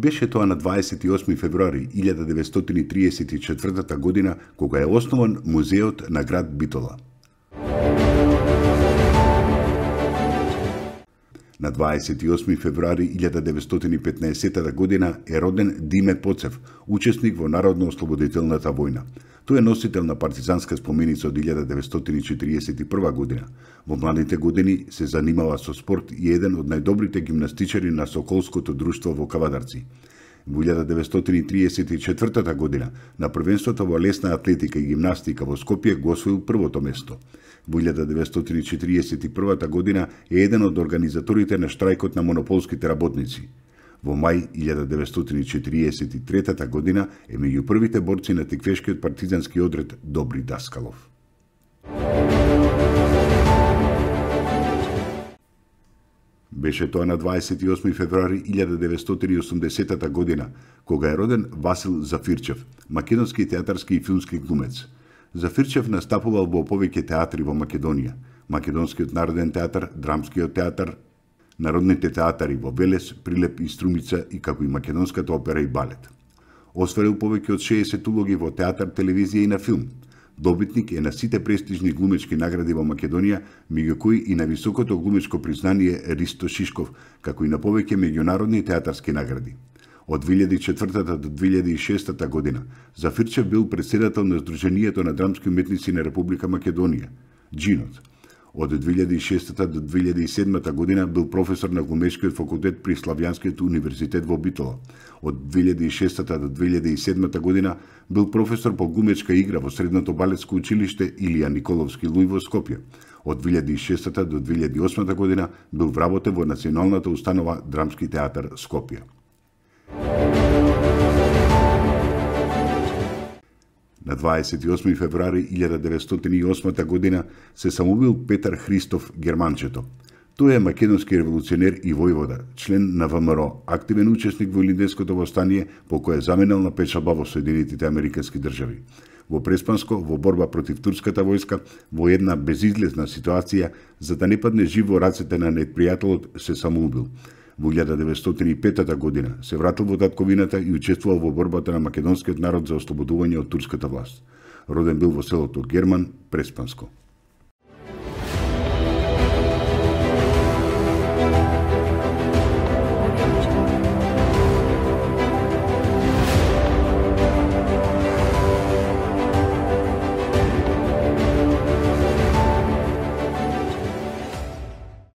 Беше тоа на 28 февруари 1934 година кога е основан музеот на град Битола. На 28 февруари 1915 година е роден Диме Поцев, учесник во Народно-ослободителната војна. Тој е носител на партизанска споменица од 1941 година. Во младите години се занимава со спорт и еден од најдобрите гимнастичари на Соколското друштво во Кавадарци. Во 1934 година на првенството во лесна атлетика и гимнастика во Скопје го освоил првото место. Во 1941 година е еден од организаторите на штрајкот на монополските работници. Во мај 1943 година е меѓу првите борци на теквешкиот партизански одред Добри Даскалов. Беше тоа на 28 февруари 1980 година, кога е роден Васил Зафирчев, македонски театарски и филмски глумец. Зафирчев настапувал во повеќе театри во Македонија: Македонскиот народен театар, Драмскиот театар, народните театари во Велес, Прилеп и Струмица и како и Македонската опера и балет. Осварил повеќе од 60 улоги во театар, телевизија и на филм. Добитник е на сите престижни глумечки награди во Македонија, меѓу кои и на високото глумечко признание Ристо Шишков, како и на повеќе меѓународни театарски награди. Од 2004 до 2006 година Зафирчев бил претседател на Сдруженијето на драмски уметници на Република Македонија, Джинот. Од 2006 до 2007 година бил професор на глумечкиот факултет при Славјанскиот универзитет во Битола. Од 2006 до 2007 година бил професор по глумечка игра во Средното балетско училиште Илија Николовски Луј во Скопје. Од 2006 до 2008 година бил вработен во Националната установа Драмски театар Скопје. На 28 февруари 1908 година се самоубил Петар Христоф Германчето. Тој е македонски револуционер и војвода, член на ВМРО, активен учесник во Илинденското востание, по кое заменел на печалба во Соединетите Американски држави. Во Преспанско, во борба против турската војска, во една безизлезна ситуација, за да не падне жив во рацете на непријателот, се самоубил. Во 1905 година се вратил во татковината и учествувал во борбата на македонскиот народ за ослободување од турската власт. Роден бил во селото Герман, Преспанско.